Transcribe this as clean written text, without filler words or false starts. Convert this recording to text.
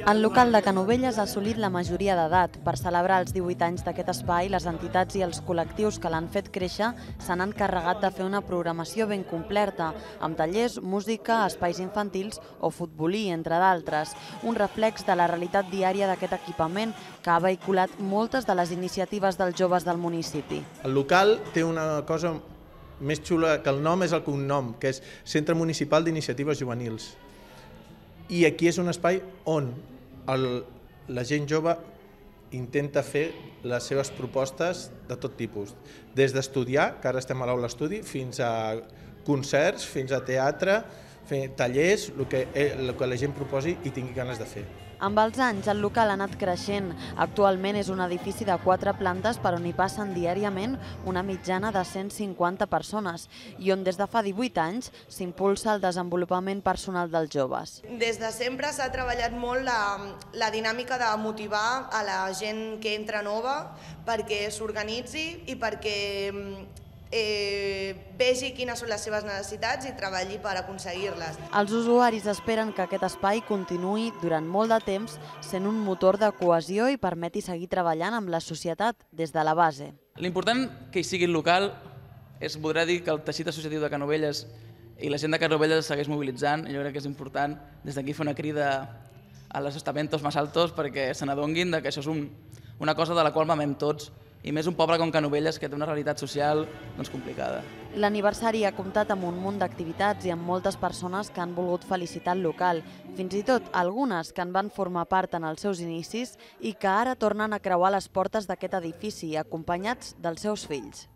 El local de Canovelles ha assolit la majoria d'edat. Per celebrar els 18 anys d'aquest espai, les entitats i els col·lectius que l'han fet créixer s'han encarregat de fer una programació ben completa, amb tallers, música, espais infantils o futbolí, entre d'altres. Un reflex de la realitat diària d'aquest equipament que ha vehiculat moltes de les iniciatives dels joves del municipi. El local té una cosa més xula que el nom és el cognom, que és Centre Municipal d'Iniciatives Juvenils. I aquí és un espai on la gent jove intenta fer les seves propostes de tot tipus, des d'estudiar, que ara estem a l'aula estudi, fins a concerts, fins a teatre, fer tallers, el que la gent proposi i tingui ganes de fer. Amb els anys, el local ha anat creixent. Actualment és un edifici de 4 plantes per on hi passen diàriament una mitjana de 150 persones i on des de fa 18 anys s'impulsa el desenvolupament personal dels joves. Des de sempre s'ha treballat molt la dinàmica de motivar a la gent que entra nova perquè s'organitzi i perquè vegi quines són les seves necessitats i treballi per aconseguir-les. Els usuaris esperen que aquest espai continuï durant molt de temps sent un motor de cohesió i permeti seguir treballant amb la societat des de la base. L'important que hi sigui el local és poder dir que el teixit associatiu de Canovelles i la gent de Canovelles es segueix mobilitzant. Jo crec que és important des d'aquí fer una crida a los estamentos más altos perquè se n'adonguin que això és una cosa de la qual mamem tots, i més un poble com Canovelles que té una realitat social complicada. L'aniversari ha comptat amb un munt d'activitats i amb moltes persones que han volgut felicitar el local, fins i tot algunes que en van formar part en els seus inicis i que ara tornen a creuar les portes d'aquest edifici acompanyats dels seus fills.